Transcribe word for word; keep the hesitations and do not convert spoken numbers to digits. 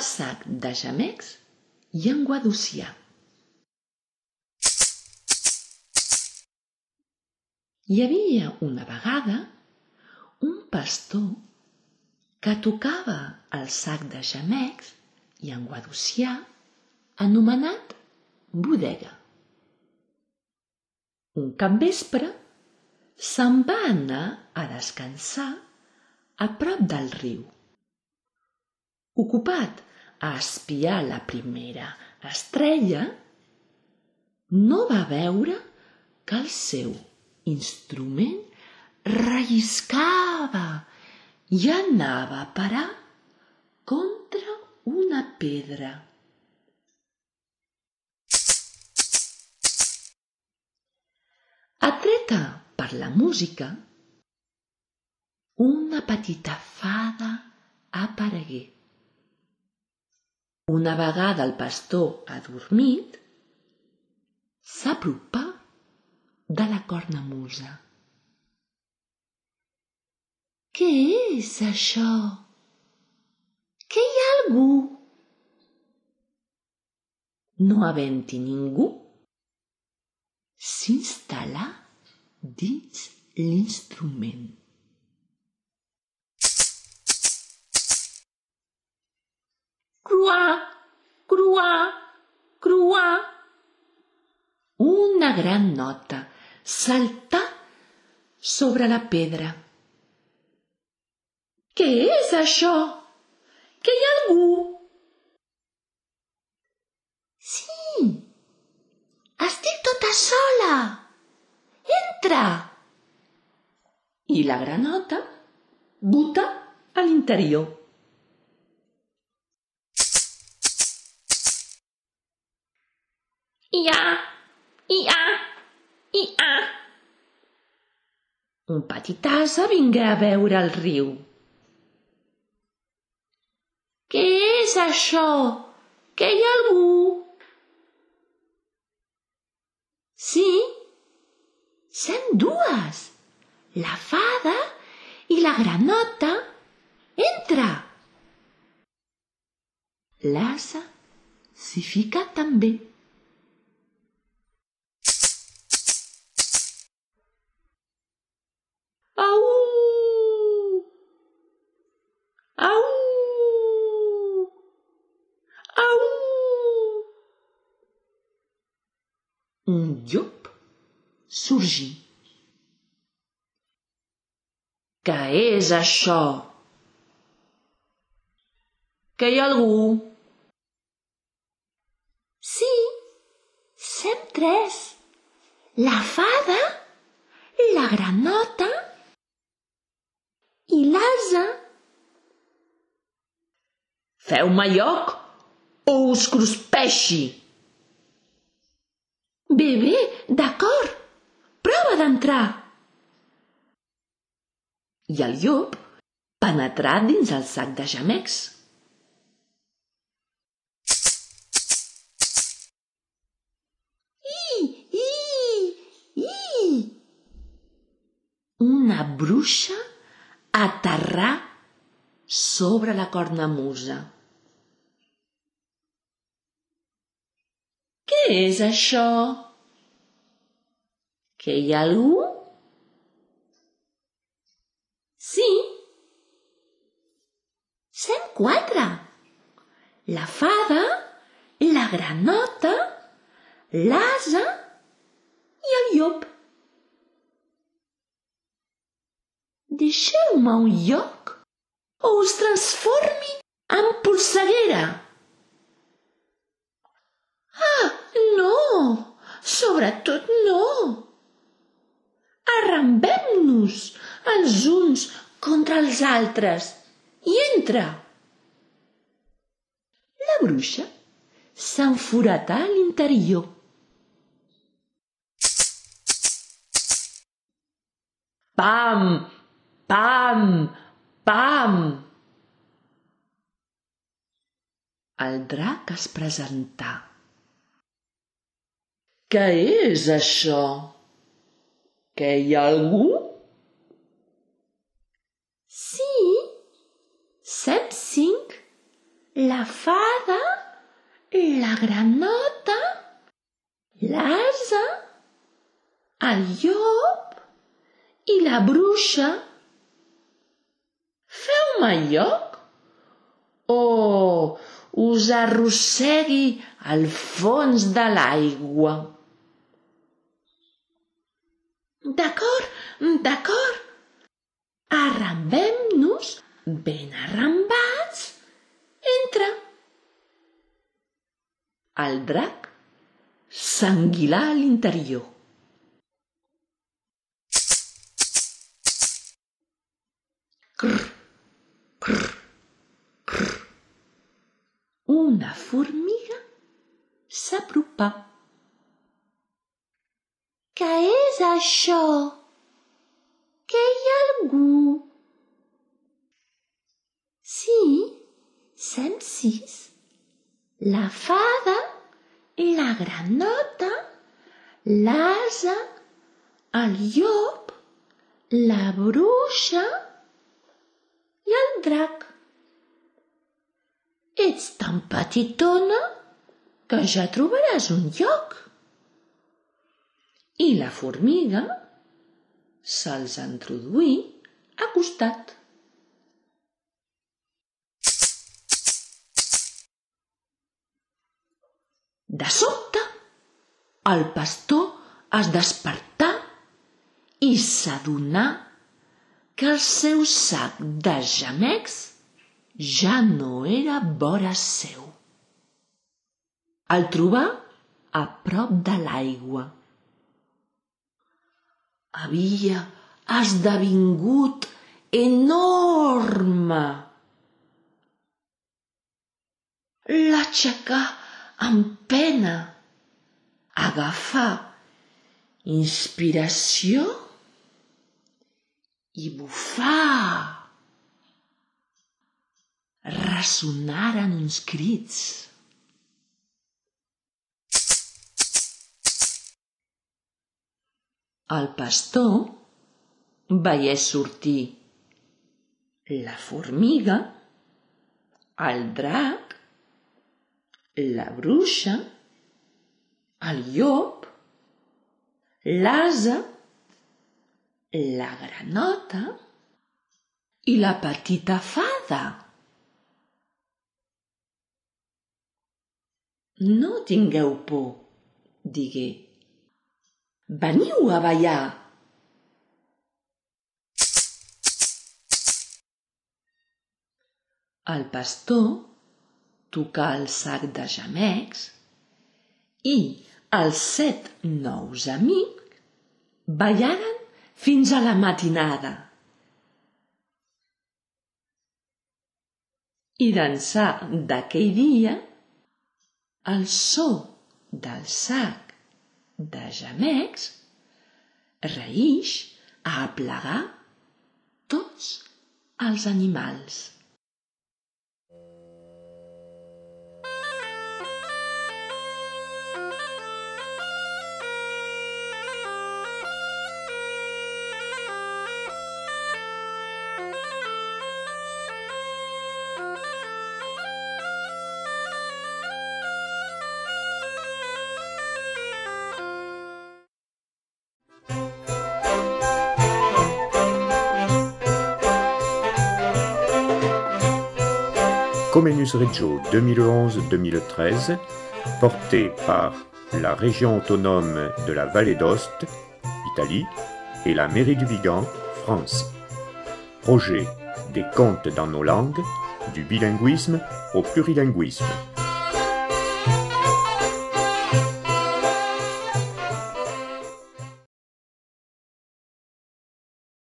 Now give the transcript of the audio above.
sac de gemecs i en Guadocià. Hi havia una vegada un pastor que tocava el sac de gemecs i en Guadocià anomenat bodega. Un capvespre se'n va anar a descansar a prop del riu. Ocupat a espiar la primera estrella, no va veure que el seu instrument relliscava i anava a parar contra una pedra. Atreta per la música, una petita fada aparegué. Una vegada el pastor adormit, s'apropà de la cornamusa. Què és això? Que hi ha algú? No havent-hi ningú, s'instal·là dins l'instrument. Cruà, cruà, cruà. Una gran nota saltà sobre la pedra. Què és això? Que hi ha algú? Sí, estic tota sola. Entra! I la granota buta a l'interior. Ia, ia, ia. Un petit ase vingué a veure el riu. Què és això? Que hi ha algú? Sí, sem dues, la fada i la granota. Entra! L'ase s'hi fica també. Au! Au! Au! Un llop sorgí. Què és això? Que hi ha algú? Sí, sem tres. La fada, la granota i l'ase. Feu-me lloc o us cruspeixi. Bé, bé, d'acord. Prova d'entrar. I el llop penetrà dins el sac de gemecs. I, i, i. Una bruixa aterrà sobre la cornamusa. Què és això? Que hi ha algú? Sí, sem quatre. La fada, la granota, l'ase i el llop. Deixeu-me un lloc o us transformi en polseguera. Ah, no! Sobretot no! Arrambem-nos els uns contra els altres i entra. La bruixa s'enforatà a l'interior. Pam, pam, pam. El drac es presentà. Què és això? Que hi ha algú? Sí, sem cinc. la fada, la granota, l'ase, el llop i la bruixa. Feu-me lloc o us arrossegui al fons de l'aigua? D'acord, d'acord. Arrambem-nos ben arrambats. Entra. El drac s'enguilà a l'interior. Crr, crr, crr. Una formiga s'apropà. Què és això? Que hi ha algú? Sí, som sis. La fada, la granota, l'ase, el llop, la bruixa i el drac. Ets tan petitona que ja trobaràs un lloc. I la formiga se'ls introduí a costat. De sobte, el pastor es despertà i s'adonà que el seu sac de gemecs ja no era vora seu. El trobà a prop de l'aigua. Havia esdevingut enorme. L'aixecà amb pena. Agafà inspiració i bufà. Ressonaren uns crits. El pastor veié sortir la formiga, el drac, la bruixa, el llop, l'ase, la granota i la petita fada. No tingueu por, digué. Veniu a ballar. El pastor tocà el sac de gemecs i els set nous amics ballaren fins a la matinada. I d'ençà d'aquell dia, el so del sac de gemecs reïx a aplegar tots els animals. Comenius Regio deux mille onze deux mille treize, porté par la région autonome de la Vallée d'Aoste, Italie, et la mairie du Vigan, France. Projet des contes dans nos langues, du bilinguisme au plurilinguisme.